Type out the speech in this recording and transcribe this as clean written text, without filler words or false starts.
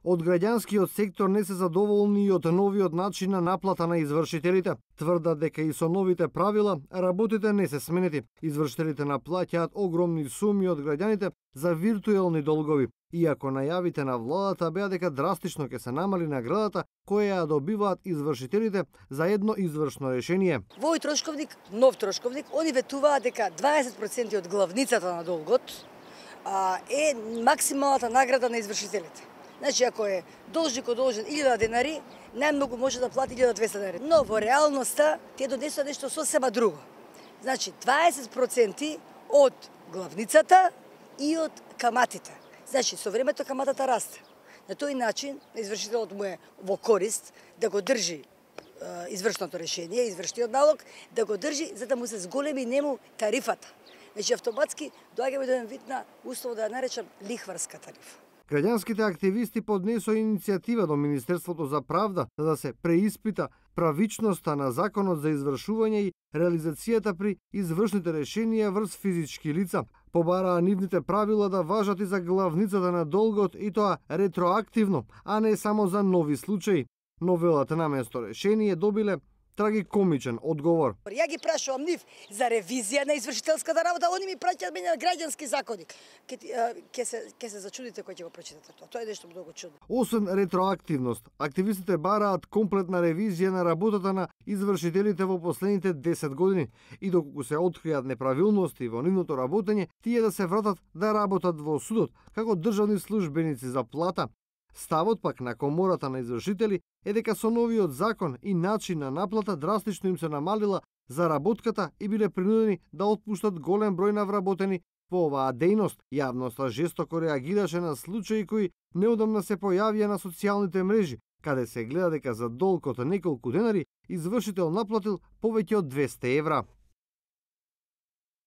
Од граѓанскиот сектор не се задоволни и од новиот начин на наплата на извршителите. Тврдат дека и со новите правила работите не се сменети. Извршителите наплаќаат огромни суми од граѓаните за виртуелни долгови, иако најавите на владата беа дека драстично ќе се намали наградата која ја добиваат извршителите за едно извршно решение. Во овој трошковник, нов трошковник, они ветуваат дека 20% од главницата на долгот е максималната награда на извршителите. Значи, ако е должникот должен 1000 денари, најмногу може да плати 1200 денари. Но во реалноста те донесува нешто сосема друго. Значи, 20% од главницата и од каматите. Значи, со времето каматата расте. На тој начин, извршителот му е во корист да го држи извршното решение, извршниот налог, да го држи за да му се зголеми нему тарифата. Значи, автоматски доаѓаме до еден вид на услово да ја наречам лихварска тарифа. Граѓанските активисти поднесоа иницијатива до Министерството за правда за да се преиспита правичноста на законот за извршување и реализацијата при извршните решенија врз физички лица. Побараа нивните правила да важат и за главницата на долгот и тоа ретроактивно, а не само за нови случаи. Новелата наместо решение добиле трагикомичен одговор. Ја ги прашувам нив за ревизија на извршителската работа, они ми праќаат мене на граѓански законник. Ке се зачудите кој ќе го прочитате тоа. Тоа е нешто многу чудно. Освен ретроактивност, активистите бараат комплетна ревизија на работата на извршителите во последните 10 години и доколку се откријат неправилности во нивното работење, тие да се вратат да работат во судот како државни службеници за плата. Ставот пак на комората на извршители е дека со новиот закон и начин на наплата драстично им се намалила заработката и биле принудени да отпуштат голем број на вработени во оваа дејност. Јавноста жестоко реагираше на случаи кои неодамна се појавија на социјалните мрежи, каде се гледа дека за долг од неколку денари извршител наплатил повеќе од 200 евра.